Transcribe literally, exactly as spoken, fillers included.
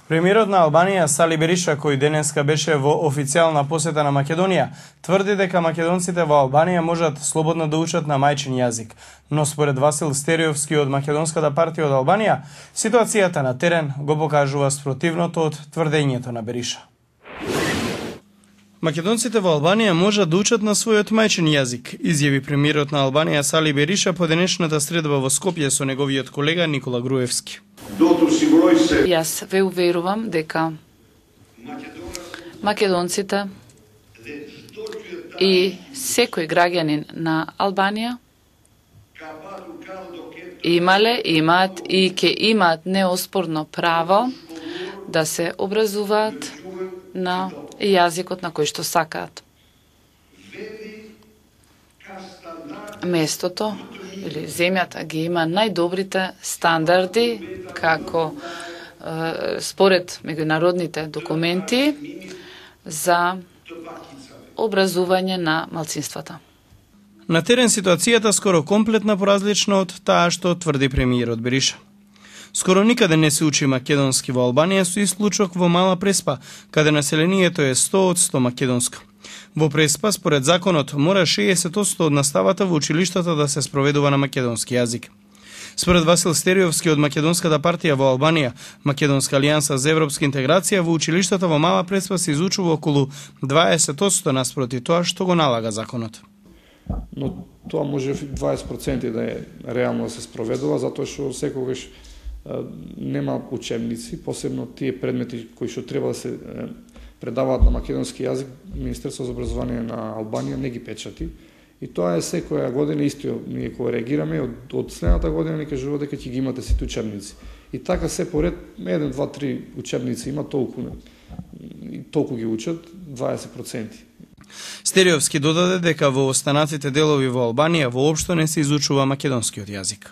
Премиерот на Албанија Сали Бериша, кој денеска беше во официјална посета на Македонија, тврди дека македонците во Албанија можат слободно да учат на мајчин јазик. Но според Васил Стериовски од Македонската партија од Албанија, ситуацијата на терен го покажува спротивното од тврдењето на Бериша. Македонците во Албанија можат да учат на својот мајчин јазик, изјави премиерот на Албанија Сали Бериша по денешната средба во Скопје со неговиот колега Никола Груевски. Јас ве уверувам дека македонците и секој граѓанин на Албанија имале, имаат и ќе имаат неоспорно право да се образуваат на јазикот на кој што сакаат. Местото или земјата ги има најдобрите стандарди како е, според меѓународните документи за образување на малцинствата. На терен ситуацијата скоро комплетна поразлична од таа што тврди премиерот Бериша. Скоро никаде не се учи македонски во Албанија со исклучок во Мала Преспа, каде населението е сто од сто македонско. Во Преспа, според законот, мора шеесет одсто од наставата во училиштата да се спроведува на македонски јазик. Според Васил Стериовски од Македонската партија во Албанија, Македонска алијанса за европска интеграција, во училиштата во Мала Преспа се изучува околу дваесет одсто наспроти тоа што го налага законот. Но тоа може дваесет проценти да е реално да се спроведува, затоа што секогаш нема учебници, посебно тие предмети кои што треба да се предаваат на македонски јазик, Министерството за образование на Албанија не ги печати. И тоа е секоја година исто, ние кога реагираме, од, од следната година ни кажува дека ќе ги имате сите учебници. И така се поред, еден, два, три учебници има, толку, и толку ги учат, дваесет проценти. Стериовски додаде дека во останатите делови во Албанија воопшто не се изучува македонскиот јазик.